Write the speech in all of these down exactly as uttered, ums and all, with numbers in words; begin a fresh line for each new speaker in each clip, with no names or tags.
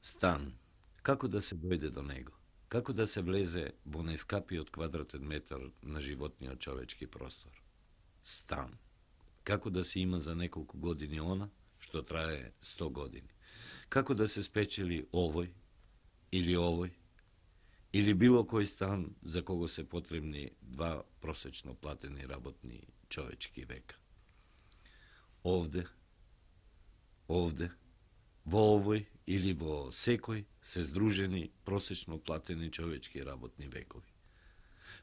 Стан. Како да се дојде до него? Како да се влезе во најскапиот квадратен метар на животниот човечки простор? Стан. Како да се има за неколку години она што трае сто години? Како да се спечели овој или овој или било кој стан за кого се потребни два просечно платени работни човечки века? Овде, овде, во овој или во секој се здружени просечно платени човечки работни векови.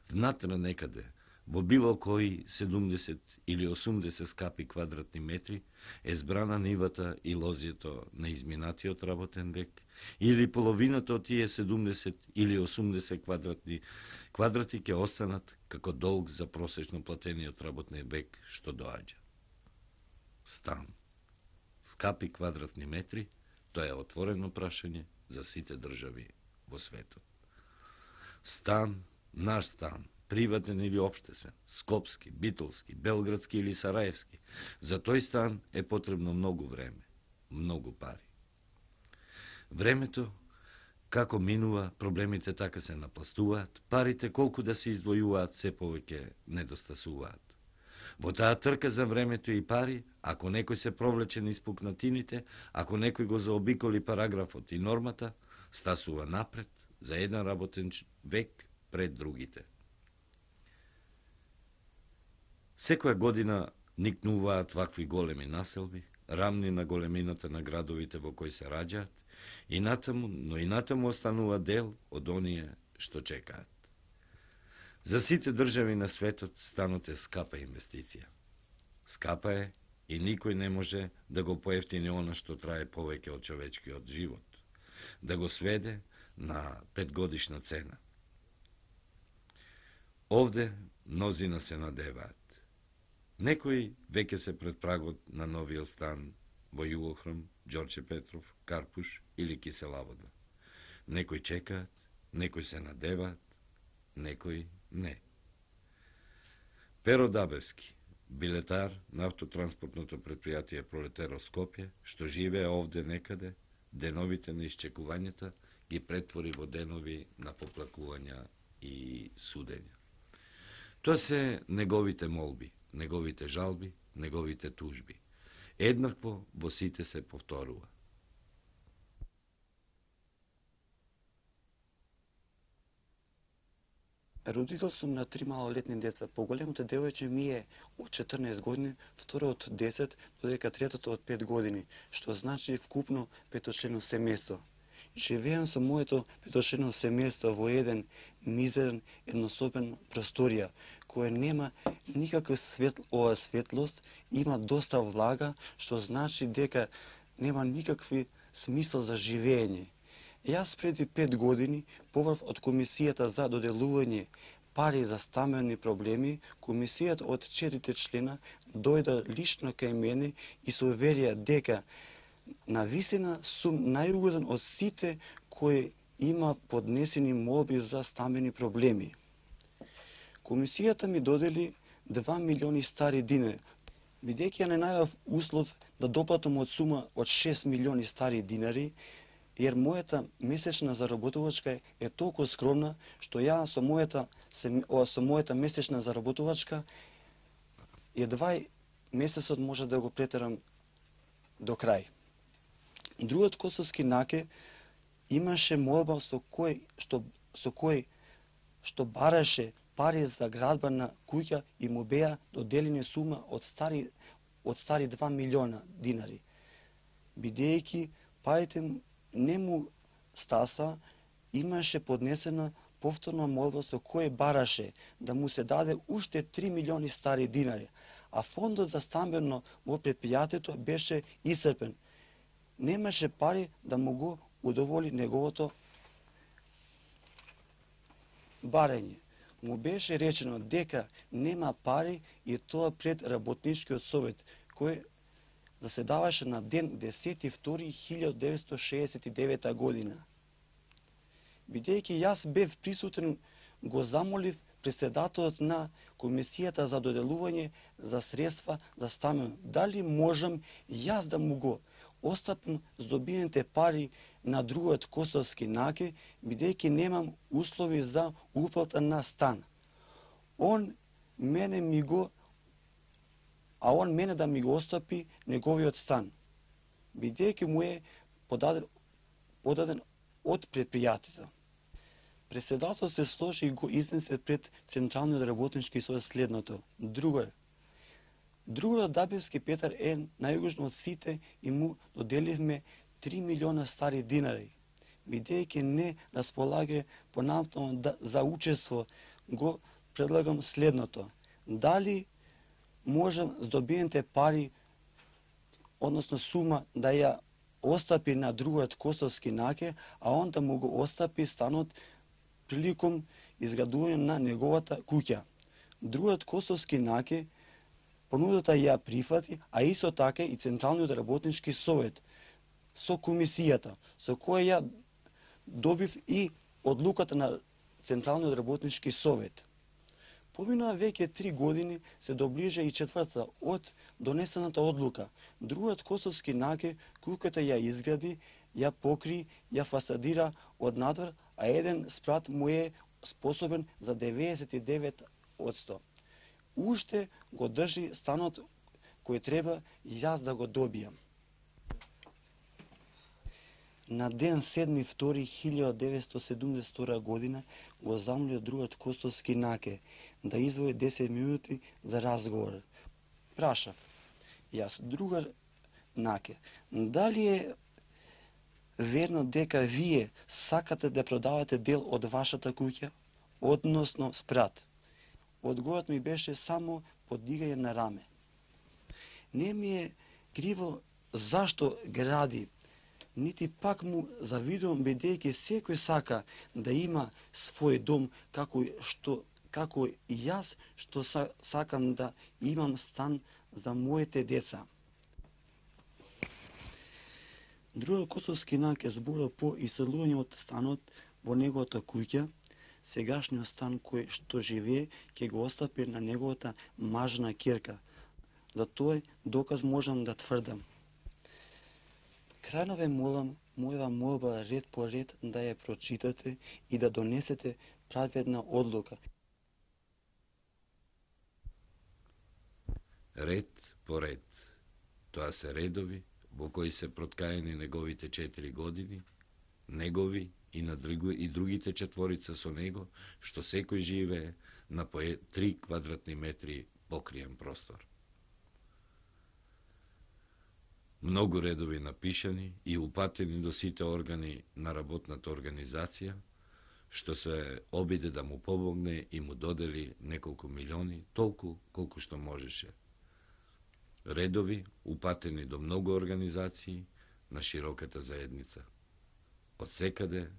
Внатре некаде, во било кои седумдесет или осумдесет скапи квадратни метри е збрана нивата и лозјето на изминатиот работен век, или половината од тие седумдесет или осумдесет квадратни квадрати ќе останат како долг за просечно платениот работен век што доаѓа. Стан. Скапи квадратни метри, тоа е отворено прашање за сите држави во светот. Стан, наш стан, приватен или општествен, скопски, битолски, белградски или сараевски, за тој стан е потребно многу време, многу пари. Времето, како минува, проблемите така се напластуваат, парите колку да се издвојуваат се повеќе недостасуваат. Во таа трка за времето и пари, ако некој се провлече низ пукнатините, ако некој го заобиколи параграфот и нормата, стасува напред за еден работен век пред другите. Секоја година никнуваат вакви големи населби, рамни на големината на градовите во кои се раѓаат, и натаму, но и натаму останува дел од оние што чекаат. За сите држави на светот станот е скапа инвестиција. Скапа е и никој не може да го поевтини она што трае повеќе од човечкиот живот, да го сведе на петгодишна цена. Овде мнозина се надеваат. Некои веќе се пред прагот на новиот стан во Југохром, Ѓорче Петров, Карпуш или Киселавода. Некои чекаат, некои се надеваат, некои не. Перо Дабевски, билетар на автотранспортното предпријатие Пролетаро Скопје, што живее овде некаде, деновите на исчекувањата ги претвори во денови на поплакувања и судења. Тоа се неговите молби, неговите жалби, неговите тужби. Еднакво во сите се повторува.
Родител сум на три малолетни деца. Поголемото девојче ми е од четрнаесет години, второто од десет, додека третото од пет години, што значи вкупно петочлено семејство. Живеам со моето петочлено семејство во еден мизерен еднособен просторија, која нема никаква светл, ова светлост, има доста влага, што значи дека нема никакви смисол за живење. Јас преди пет години, побрав од Комисијата за доделување пари за стамбени проблеми, комисијата од четирите члена дојда лично кај мене и се уверија дека на висина сум најугоден од сите кои има поднесени молби за стамбени проблеми. Комисијата ми додели два милиони стари динари, бидејќи ја не најдов услов да доплатам од сума од шест милиони стари динари, jer мојата месечна заработувачка е толку скромна, што ја со мојата, со мојата месечна заработувачка едва месецот може да го претерам до крај. Другиот косовски наке имаше молба со кој што со кој што бараше пари за градба на куќа и му беа доделени сума од стари од стари два милиона динари. Бидејќи парите не му стаса, имаше поднесена повторна молба со кој бараше да му се даде уште три милиони стари динари, а фондот за стамбено во предпријатието беше исцрпен. Немаше пари да му го удоволи неговото барање. Му беше речено дека нема пари и тоа пред работничкиот совет, кој заседаваше на ден десети втори илјада деветстотини шеесет и девета година. Бидејќи јас бев присутен, го замолив председателот на Комисијата за доделување за средства за стамбено, дали можам јас да му го остапам здобиените пари на другиот косовски наке, бидејќи немам услови за уплата на стан. Он мене ми го а он мене да ми го остапи неговиот стан, бидејќи му е подаден, подаден од предпријатието. Преседател се сложи и го изнесе пред Централниот работнички совет следното: Другар, Другарот Дабевски Петар е најугожен од сите и му доделивме три милиона стари динари. Бидејќи не располага понатаму да, за учество, го предлагам следното: дали можам здобиените пари, односно сума, да ја остапи на другиот косовски наке, а он да му го остапи станот приликом изградување на неговата куќа. Другиот косовски наке понудата ја прифати, а исто така и Централниот работнички совет со комисијата, со која ја добив и одлуката на Централниот работнички совет. Поминаа веќе три години, се доближа и четвртата од донесената одлука. Другиот косовски наке куќата ја изгради, ја покри, ја фасадира од надвор, а еден спрат му е способен за деветдесет и девет одсто. Уште го држи станот кој треба јас да го добијам. На ден седми втори хилјада деветстотини седумдесет и втора година го замолил другиот косовски наке да извои десет минути за разговор. Прашав јас: Другар наке, дали е верно дека вие сакате да продавате дел од вашата куќа, односно спрат? Одговорот ми беше само подигање на раме. Не ми е криво зашто гради, нити пак му завидувам, бидејќи секој сака да има свој дом, како што како и јас што сакам да имам стан за моите деца. Другиот косовски наке зборил по иселување од станот во неговата куќа. Сегашниот стан кој што живее ќе го остапи на неговата мажна ќерка. За тој доказ можам да тврдам. Крајно ве молам, моја молба ред по ред да ја прочитате и да донесете праведна одлука.
Ред по ред. Тоа се редови во кои се проткаени неговите четири години, негови и на други, и другите четворица со него, што секој живее на по три квадратни метри покриен простор. Многу редови напишани и упатени до сите органи на работната организација, што се обиде да му помогне и му додели неколку милиони, толку колку што можеше. Редови упатени до многу организации на широката заедница. Од секаде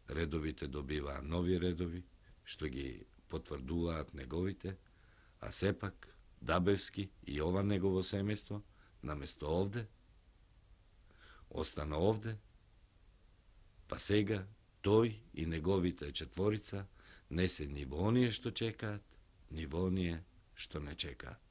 редовите добиваа нови редови, што ги потврдуваат неговите, а сепак Дабевски и ова негово семејство, наместо овде, остана овде, па сега тој и неговите четворица не се ни во оние што чекаат, ни во оние што не чекаат.